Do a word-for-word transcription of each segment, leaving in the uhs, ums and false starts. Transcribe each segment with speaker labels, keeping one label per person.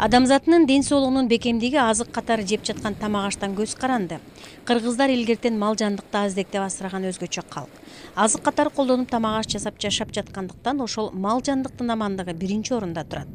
Speaker 1: Адамзатынын ден соолугунун бекемдиги азык катары жеп жаткан тамак аштан көз каранды. Кыргыздар илгертен мал жандыкты аздектеп асыраган өзгөчө калк. Азык катары колдонуп тамак аш жасап жашап жаткандыктан ошол мал жандыктын амандыгы биринчи орунда турат.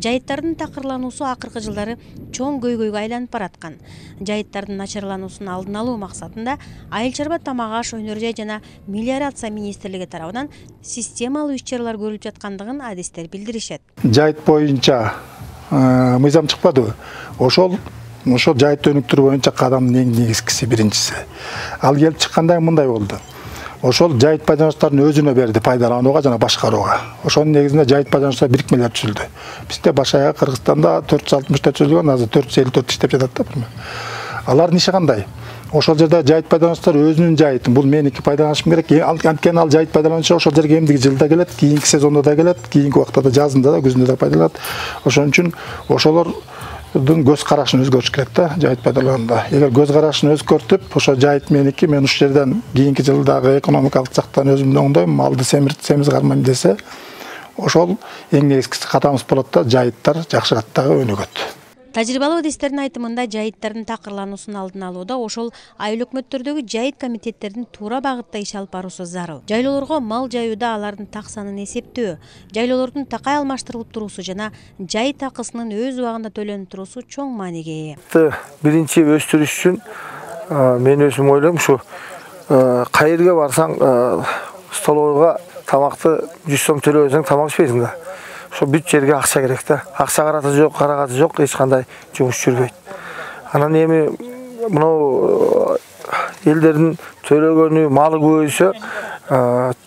Speaker 1: Жайыттардын такырлануусу акыркы жылдары чоң көйгөйгө айланып бараткан. Жайыттардын начарлануусун алдын алуу максатында Айыл чарба тамак аш өнөр жай жана мелиорация министрлиги тарабынан системалуу иш-чаралар көрүлүп жаткандыгын адистер билдиришет.
Speaker 2: Жайыт боюнча мыйзам чыкпадыбы? Ошол ошол жайыт өнүктүрүү боюнча кадамдын эң негизгиси биринчиси. Ал келип чыкканда мындай болду. Ошол жайыт пайдалануучулардын өзүнө берди пайдаланууга жана башкарууга. Ошонун негизинде жайыт пайдалануучулар бирикмелер түзүлдү. Бизде баш аяк Кыргызстанда төрт жүз алтымышта түзүлгөн, азыр төрт жүз элүү төрт иштеп жатат да. Алардын иши кандай? Ошол жерде жайыт пайдалануучулар өзүнүн жайытын, бул меники пайдаланышым керек. Анткени ал жайыт пайдалануучу ошол жерге эмдиги жылда келет, кийинки сезондо да келет, кийинки убакта да, жазында да, күзүндө да пайдаланат. Ошон үчүн ошолордун көз карашын өзгөртүш керек да, жайыт пайдаланууда. Эгер көз карашын өзгөртүп, ошо жайыт меники, мен ушул жерден кийинки жылдагы экономикалык жактан өзүмдү оңдойм, малды семирт, семиз кармайм десе, ошол эң негизгиси катамыз болот да, жайыттар жакшы каттагы өнүгөт.
Speaker 1: Тажрыйбалуу адистердин айтымында жайыттардын такырлануусун алдын алууда ошол айыл өкмөттөрдөгү жайыт комитеттердин туура багытта иш алып баруусу зарыл. Жайлоолорго мал жаюуда алардын так санын эсептөө, жайлоолордун такай алмаштырылып туруусу жана жайыт акысынын өз убагында төлөнүп туруусу чоң мааниге ээ.
Speaker 3: Биринчи өстүрүш үчүн мен өзүм ойлойм, ушу кай жерге барсаң столовойго тамакты жүз сом төлөбөсөң тамак ичпейсиң да. Ошо бүт жерге акча керек да. Акча караты жок, карагаты жок, эч кандай жумуш жүрбөйт. Анан эми мынау элдердин төлөгөнү, малы көбөйсө,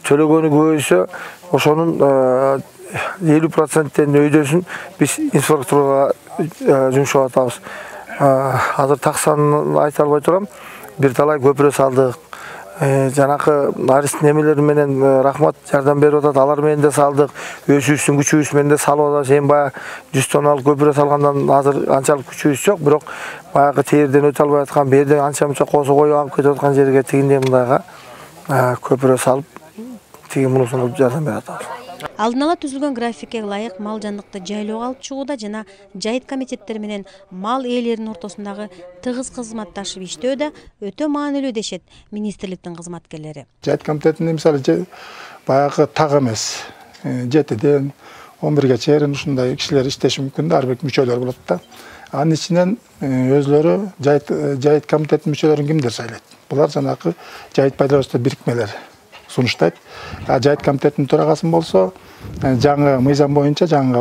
Speaker 3: төлөгөнү көбөйсө, ошонун элүү проценттен өйдөсүн биз инфраструктурага жумшап атабыз. Азыр так санын айта албай турам. Бир талай көпүрө салдык. Жанакы арист немелер менен рахмат жардам берип атат, алар менен да салдык, өзүбүздүн күчүбүз менен да салып атабыз. Эми баягы жүз тонналык көпүрө салгандан азыр анчалык күчүбүз жок, бирок баягы терден өтө албай аткан, берден анча-мынча косо коюп алып кетип аткан жерге тигиндей мындайга көпүрө салып, тиги мунусуна жардам берип атабыз.
Speaker 1: Алдын ала түзүлгөн графикке ылайык мал жандыкты жайлоого алып чыгууда жана жайыт комитеттери менен мал ээлеринин ортосундагы тыгыз кызматташып иштөөдө өтө маанилүү дешет министрликтин кызматкерлери.
Speaker 2: Жайыт комитетинде мисалы баягы так эмес, жетиден он бирге чейин ушундай кишилер иштеши мүмкүн да, ар бир мүчөлөр болот да. Анын ичинен өзлөрү жайыт жайыт комитетинин мүчөлөрүн кимдер шайлайт? Булар жанакы жайыт пайдалануучулар бирикмелер сунуштайт. Жайыт комитетинин төрагасын болсо, жаңы мыйзам боюнча жаңы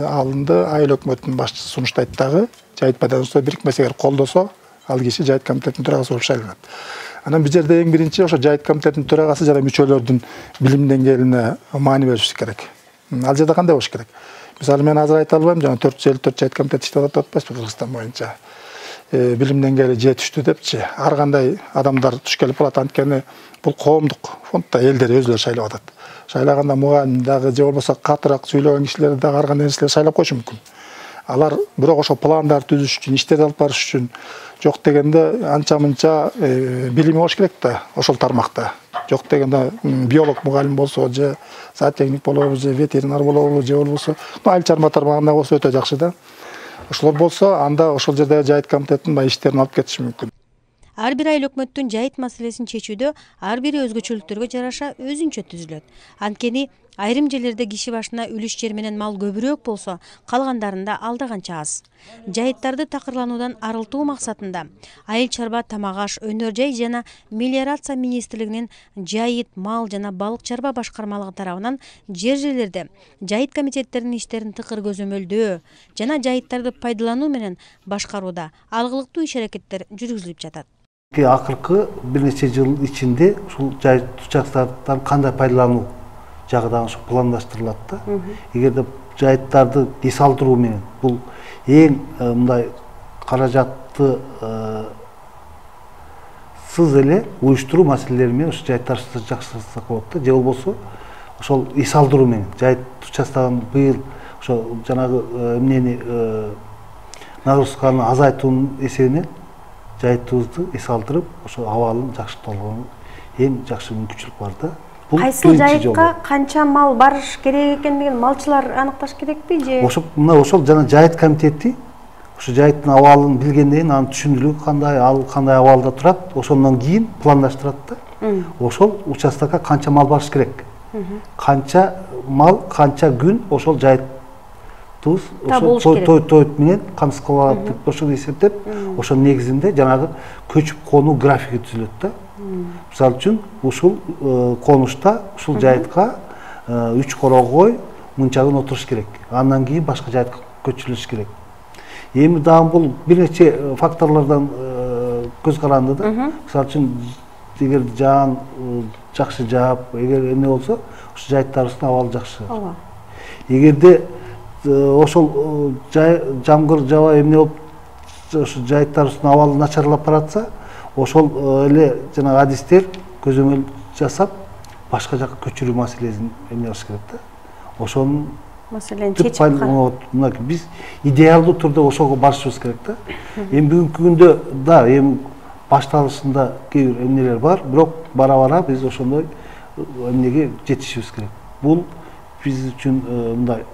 Speaker 2: алынды айыл өкмөтүнүн башчысы сунуштайт дагы, жайыт пайдалануучулар бирикмеси эгер колдосо, ал киши жайыт комитетинин төрагасы болуп шайланат. Анан бул жерде эң биринчи ошо жайыт комитетинин төрагасы жана мүчөлөрдүн билим деңгээлине маани бериш керек. Ал жерде кандай болуш керек? Мисалы мен азыр айта албайм, жана төрт жүз элүү төрт жайыт комитет иштеп атат деп атпайсызбы Кыргызстан боюнча. Билим деңгээли жетиштүү депчи, ар кандай адамдар туш келип калат, анткени бул коомдук фондда элдер өзүлөрү шайлап атат. Шайлаганда мугалим дагы же болбосо катыраак сөйлөгөн кишилерди дагы ар кандай нерселер шайлап койушу мүмкүн. Алар бирок ошо пландар түзүш үчүн, иштерди алып барыш үчүн жок дегенде анча-мынча билими болуш керек да ошол тармакта. Жок дегенде биолог мугалим болсо же зоотехник болобу, же ветеринар болобу, же болбосо айыл чарба тармагында болсо өтө жакшы да. Ошолор болсо, анда ошол жерде жайыт комитетинин иштерин алып кетиши мүмкүн.
Speaker 1: Ар бир айыл өкмөттүн жайыт маселесин чечүүдө ар бири өзгөчөлүктөргө жараша өзүнчө түзүлөт. Анткени айрым жерлерде киши башына үлүш жер менен мал көбүрөөк болсо, калгандарында алда канча аз. Жайыттарды такырлануудан арылтуу максатында Айыл чарба тамак аш өнөр жай жана мелиорация министрлигинин жайыт мал жана балык чарба башкармалыгы тарабынан жер жерлерде жайыт комитеттеринин иштерин тыкыр көзөмөлдөө жана жайыттарды пайдалануу менен башкарууда алгылыктуу иш-аракеттер жүргүзүлүп жатат.
Speaker 4: Акыркы бир нече жыл ичинде ушул жайыт учактарын кандай пайдалануу жагы дагы ушу пландаштырылат да. Эгерде жайыттарды эс алдыруу менен бул эң мындай каражатты сыз эле уюштуруу маселелери менен ушу жайыттарды жакшыртсак болот да. Же болбосо ошол эс алдыруу менен жайыт участогун быйыл ошо жанагы эмнени нагрузканы азайтуунун эсебинен жайыттыбызды эс алдырып, ошо абалын жакшыртууга эң жакшы мүмкүнчүлүк бар да.
Speaker 5: Кайсы жайытка канча мал барыш керек экендигин малчылар аныкташ керекпи же?
Speaker 4: Ошо мына ошол жана жайыт комитети Ошо жайыттын абалын билгенден кийин анын түшүндүлүгү кандай, ал кандай абалда турат, ошондон кийин пландаштырат да. Ошол участокко канча мал барыш керек. Канча мал, канча күн ошол жайыттыбыз ошол тойт менен камсыз кылып алат деп ошону эсептеп, ошонун негизинде жанагы көчүп конуу графиги түзүлөт да. Мисалы үчүн ушул конушта, ушул жайытка үч корогой мынча күн отуруш керек. Андан кийин башка жайытка көчүрүлүш керек. Эми дагы бул бир нече факторлордон көз каранды да. Мисалы үчүн эгер жаан жакшы жаап, эгер эмне болсо, ошо жайыттарыбыздын абалы жакшы. Ооба. Эгерде ошол жамгыр жаба эмне болуп, ошо жайыттарыбыздын абалы начарлап баратса, ошол эле жана адистер көзөмөл жасап, башка жакка көчүрүү маселесин эмне кылыш керек да. Ошонун
Speaker 5: маселени чечип калат.
Speaker 4: Мынакей биз идеалдуу түрдө ошого барышыбыз керек да. Эми бүгүнкү күндө да эми башталышында кээ бир эмнелер бар, бирок бара-бара биз ошондой эмнеге жетишибиз керек. Бул биз үчүн мындай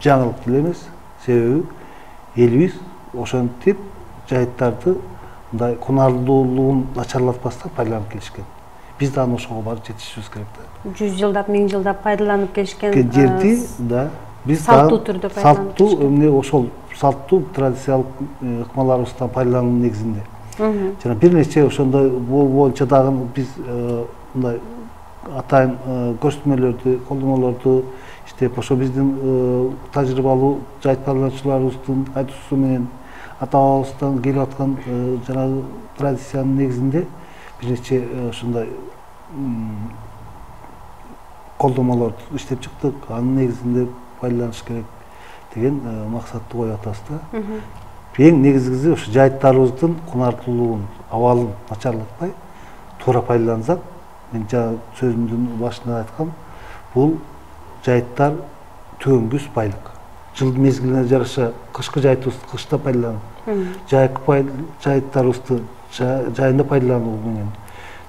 Speaker 4: жаңылык деле эмес, себеби элибиз ошентип жайыттарды мындай кунарлуулугун начарлатпастан пайдаланып келишкен. Биз да ошого барып жетишибиз керек да.
Speaker 5: жүз жылдап, миң жылдап пайдаланып келишкен
Speaker 4: жерди да биз
Speaker 5: салттуу түрдө пайдаланып келишкен.
Speaker 4: Салттуу эмне ошол салттуу традициялык ыкмаларыбыздан пайдалануу негизинде. Жана бир нече ошондой боюнча дагы биз мындай атайын көрсөтмөлөрдү, колдонмолорду иштеп, ошо биздин тажрыйбалуу жайыт пайдалануучуларыбыздын айтуусу менен ата-бабабыздан келип аткан жанагы традициянын негизинде бир нече ошондой колдонмолорду иштеп чыктык. Анын негизинде пайдаланыш керек деген максатты коюп атабыз да. Эң негизгиси ошо жайыттарыбыздын кунарлуулугун, абалын начарлатпай, туура пайдалансак, мен жана сөзүмдүн башында айткам, бул жайыттар төгөнгүс байлык. Жыл мезгилине жараша кышкы жайытыбызды кышта пайдаланып, жайкы жайыттарыбызды жайында пайдалануу менен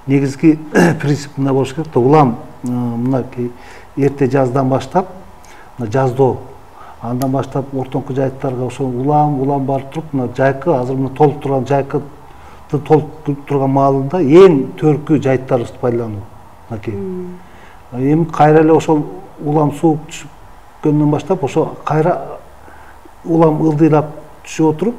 Speaker 4: негизги принцип мына болуш керек да. Улам мынакей эрте жаздан баштап, жаздоо, андан баштап ортоңку жайыттарга ошо улам улам барып туруп, мына жайкы азыр мына толуп турган жайкы толуп турган маалында эң төркү жайыттарыбызды пайдалануу. Мынакей. Эми кайра эле ошол улам суук түшкөндөн баштап ошо кайра улам ылдыйлап түшүп отуруп,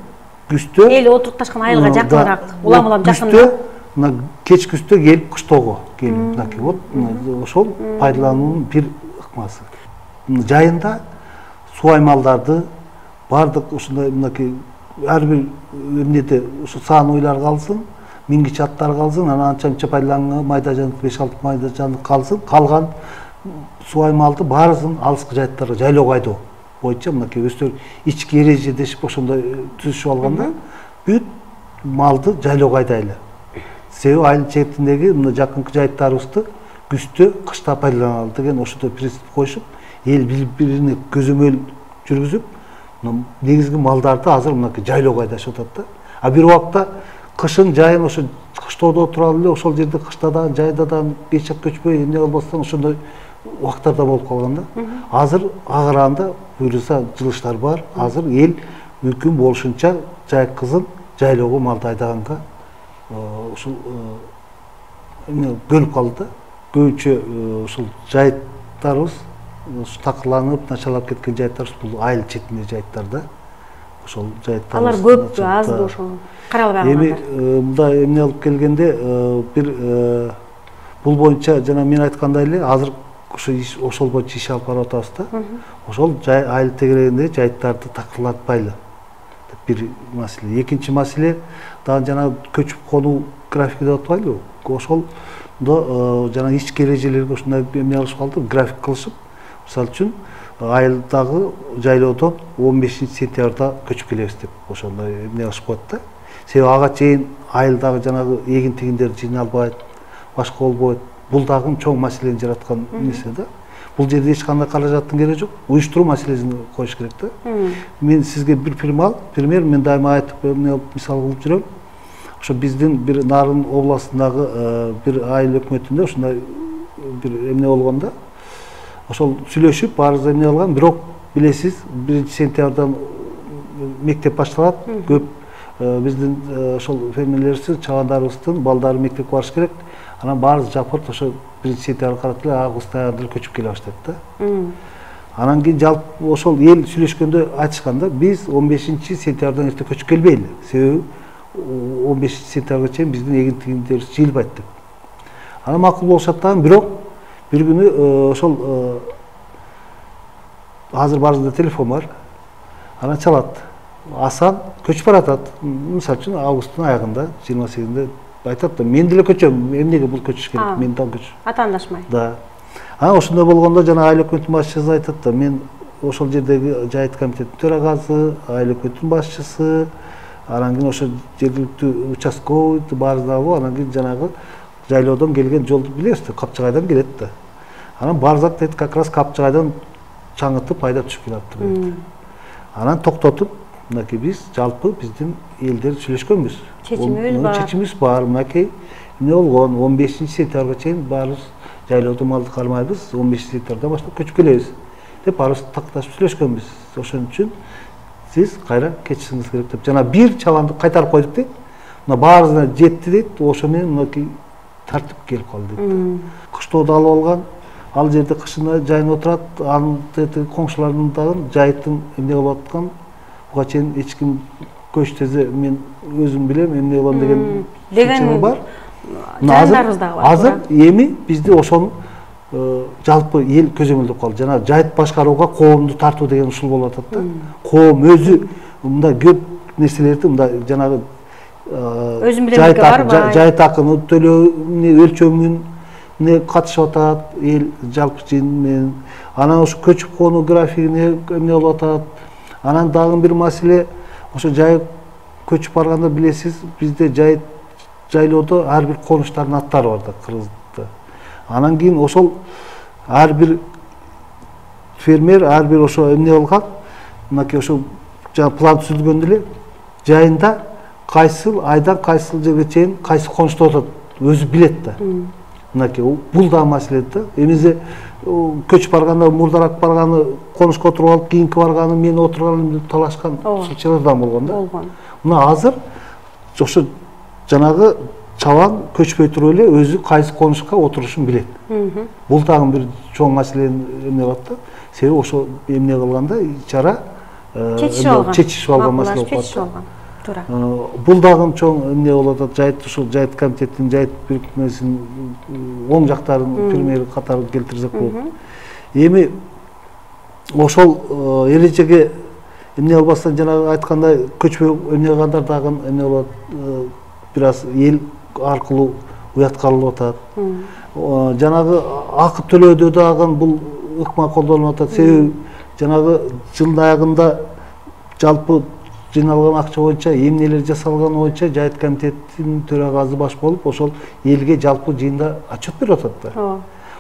Speaker 4: күздө
Speaker 5: эл отурукташкан айылга жакыныраак, улам-улам жакыныраак.
Speaker 4: Мына кеч күздө келип кыштоого келип, мынакей вот ошол пайдалануунун бир ыкмасы. Жайында суу аймалдарды бардык ушундай мынакей ар бир эмнеде ушу сан уйлар калсын, мингич аттар калсын, анан анча-мынча пайдаланган майда жанык беш алты майда жанык калсын, калган суу аймалды баарысын алыскы жайыттарга жайлоого айдоо боюнча мынакей өздөрү ички эрежедешип ошондой түзүшүп алганда, бүт малды жайлоого айдайлы. Себеби айыл чертиндеги мына жакынкы жайыттарыбызды күздө, кышта пайдаланалы деген ошондой принцип коюшуп, эл бири-бирине көзөмөл жүргүзүп, негизги малдарды азыр мынакей жайлоого айдашып атат да. А бир убакта кышын жайын ошо кыштоодо отура эле, ошол жерде кыштадан, жайдадан эч жак көчпөй эмне кылбастан ошондой убактарда болуп калган да. Азыр агыранда буюрса жылыштар бар. Азыр эл мүмкүн болушунча жайкызын жайлоого малды айдаганга ушул эмне бөлүп калды да. Көбүнчө ушул жайыттарыбыз такырланып, начарлап кеткен жайыттарыбыз бул айыл четинде жайыттар да. Ошол жайыттар.
Speaker 5: Алар көппү, азбы ошол каралбай калгандар.
Speaker 4: Эми мындай эмне алып келгенде бир бул боюнча жана мен айткандай эле азыр ошо ошол боюнча иш алып барып атабыз да. Ошол айыл тегерегинде жайыттарды такырлатпайлы деп бир маселе. Экинчи маселе дагы жана көчүп конуу графики деп атпайлыбы? Ошолдо жана ички эрежелерге ушундай эмне кылышып калды, график кылышып, мисалы үчүн айылдагы жайлоодон он бешинчи сентябрда көчүп келебиз деп ошондой эмне кылышып коет да. Себеби ага чейин айылдагы жанагы эгин тигиндер жыйналбайт, башка болбойт. Бул дагы чоң маселени жараткан нерсе да. Бул жерде эч кандай каражаттын кереги жок. Уюштуруу маселесин коюш керек да. Мен сизге бир пример, пример мен дайыма айтып эмне мисал кылып жүрөм. Ошо биздин бир Нарын областындагы бир айыл өкмөтүндө ушундай бир эмне болгондо, ошол сүйлөшүп баарыбыз эмне кылган, бирок билесиз, биринчи сентябрдан мектеп башталат. Көп биздин ошол фермерлерибиз, чабандарыбыздын балдары мектепке барыш керек. Анан баарыбыз жапырт ошо биринчи сентябрь карап эле август аягында көчүп келе баштайт да. Анан кийин жалпы ошол эл сүйлөшкөндө айтышканда биз он бешинчи сентябрдан эрте көчүп келбейли. Себеби он бешинчи сентябрга чейин биздин эгинтигибиз жыйылбайт деп. Анан макул болушат дагы, бирок бир күнү ошол азыр баарыбызда телефон бар. Анан чалат. Асан көчүп баратат. Мисалы үчүн августтун аягында, жыйырма сегизинде айтат да, мен деле көчөм, эмнеге бул көчүш керек, мен дагы көчүш.
Speaker 5: Атаандашмай.
Speaker 4: Да. Анан ошондой болгондо жана айыл өкмөтүнүн башчысы айтат да, мен ошол жердеги жайыт комитеттин төрагасы, айыл өкмөтүнүн башчысы, анан кийин ошо жергиликтүү участковый баарыбыз, анан кийин жанагы жайлоодон келген жолду билебиз да, Капчагайдан келет да. Анан баарыбыз дейт, как раз Капчагайдан чаңытып айдап түшүп келатты. Анан токтотуп, мынакей биз жалпы биздин элдер сүйлөшкөнбүз.
Speaker 5: Чечимибиз бар.
Speaker 4: Чечимибиз бар. Мынакей эмне болгон? он бешинчи сентябрга чейин баарыбыз жайлоодо малды кармайбыз, он бешинчи сентябрдан баштап көчүп келебиз деп баарыбыз такташып сүйлөшкөнбүз. Ошон үчүн сиз кайра кетишиңиз керек деп. Жана бир чабанды кайтарып койдук дейт. Мына баарыбызга жетти дейт. Ошо менен мынакей тартип келип калды дейт. Кыштоодо алып алган, ал жерде кышына жайынып отурат, анын коңшуларынын дагы жайыттын эмне кылып аткан, буга чейин эч ким көч тезе мен өзүм билем эмне болгон деген
Speaker 5: деген
Speaker 4: бар.
Speaker 5: Жайындарыбыз дагы бар.
Speaker 4: Азыр эми бизде ошону жалпы эл көзөмөлдөп калды. Жана жайыт башкарууга коомду тартуу деген ушул болуп атат да. Коом өзү мындай көп нерселерди мындай жанагы
Speaker 5: өзүм билемге барбай,
Speaker 4: жайыт акыны төлөө өлчөмүн не катышып атат, эл жалпы жыйын менен. Анан ошо көчүп конуу графигине эмне болуп атат. Анан дагы бир маселе, ошо жайыт көчүп барганда билесиз, бизде жайыт жайлоодо ар бир конуштардын аттары бар да, кыргызда. Анан кийин ошол ар бир фермер, ар бир ошо эмне болгон, мынакей ошо жана план түзүлгөндө эле жайында кайсыл айдан кайсыл жерге чейин кайсы конушта отурат, өзү билет да. Мынакей бул да маселе да. Эмезе көчүп барганда мурдарак барганы конушка отуруп алып, кийинки барганы мен отурганым деп талашкан случайлар да болгон да.
Speaker 5: Болгон.
Speaker 4: Мына азыр ошо жанагы чабан көчпөй туруп эле өзү кайсы конушка отурушун билет. Бул дагы бир чоң маселени эмне кылат да. Себеби ошо эмне кылганда чара чечишип алган маселе болуп калат.
Speaker 5: Туура.
Speaker 4: Бул дагы чоң эмне болуп атат, жайыт ушул жайыт комитеттин, жайыт бирикмесинин оң жактарын пример катары келтирсек болот. Эми ошол эрежеге эмне кылбастан жанагы айткандай көчпөй эмне кылгандар дагы эмне болот, бир аз эл аркылуу уятка алынып атат. Жанагы акы төлөөдө дагы бул ыкма колдонулуп атат. Себеби жанагы жылдын аягында жалпы жыйналган акча боюнча эмнелер жасалганы боюнча жайыт комитеттин төрагасы баш болуп, ошол элге жалпы жыйында отчет берип атат да.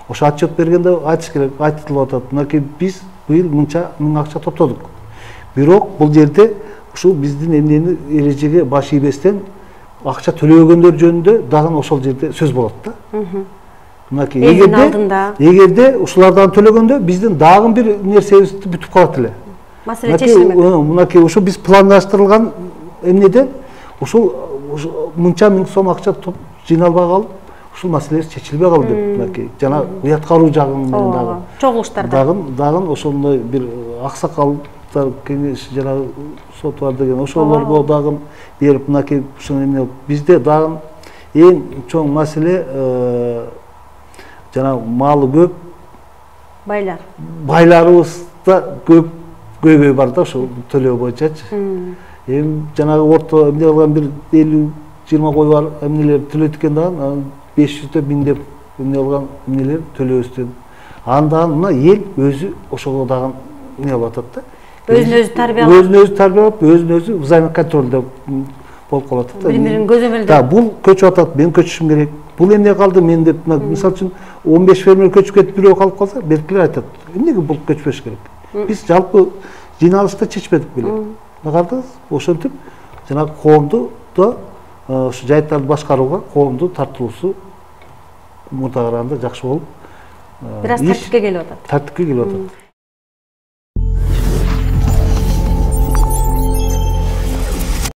Speaker 4: Ошо отчет бергенде айтыш керек, айтылып атат. Мынакей биз быйыл мынча миң акча топтодук. Бирок бул жерде ушул биздин эмнени эрежеге баш ийбестен акча төлөгөндөр жөнүндө дагы ошол жерде сөз болот да. Мынакей эгерде эгерде ушулардан төлөгөндө биздин дагы бир нерсебизди бүтүп калат эле.
Speaker 5: Маселе чечилмек.
Speaker 4: Мынакей ошо биз пландаштырылган эмнеден ушул мынча миң сом акча жыйналбай калып, ушул маселе чечилбей калды деп мынакей жана уяткаруу жагын менен дагы
Speaker 5: чогулуштарда
Speaker 4: дагы дагы ошондой бир аксакалдар кеңеш жана сот бар деген ошолорго дагы берип мынакей ушуну эмне бизде дагы эң чоң маселе жана малы көп
Speaker 5: байлар.
Speaker 4: Байларыбызда көп көйгөй бар да ошол төлөө боюнчачы. Эми жанагы орто эмне кылган бир элүү жыйырма кой бар эмнелер төлөйт экен дагы беш жүздөп миңдеп эмне кылган эмнелер төлөөбүздөн. Андан мына эл өзү ошого дагы эмне кылып атат да.
Speaker 5: Өзүн өзү тарбиялап,
Speaker 4: өзүн өзү тарбиялап, өзүн өзү взаимный контролдо болуп калат да.
Speaker 5: Бири-бирин көзөмөлдөп.
Speaker 4: Да, бул көчүп атат, мен көчүшүм керек. Бул эмне калды мен деп, мисалы үчүн он беш фермер көчүп кетип бирөө калып калса, беркилер айтат. Эмнеге бул көчпөш керек? Биз жалпы жыйналышта чечпедик беле. Кардыңыз? Ошентип жанагы коомду да ушу жайыттарды башкарууга коомду тартылуусу мурда караганда жакшы болуп,
Speaker 5: бир аз тартипке келип атат.
Speaker 4: Тартипке келип атат.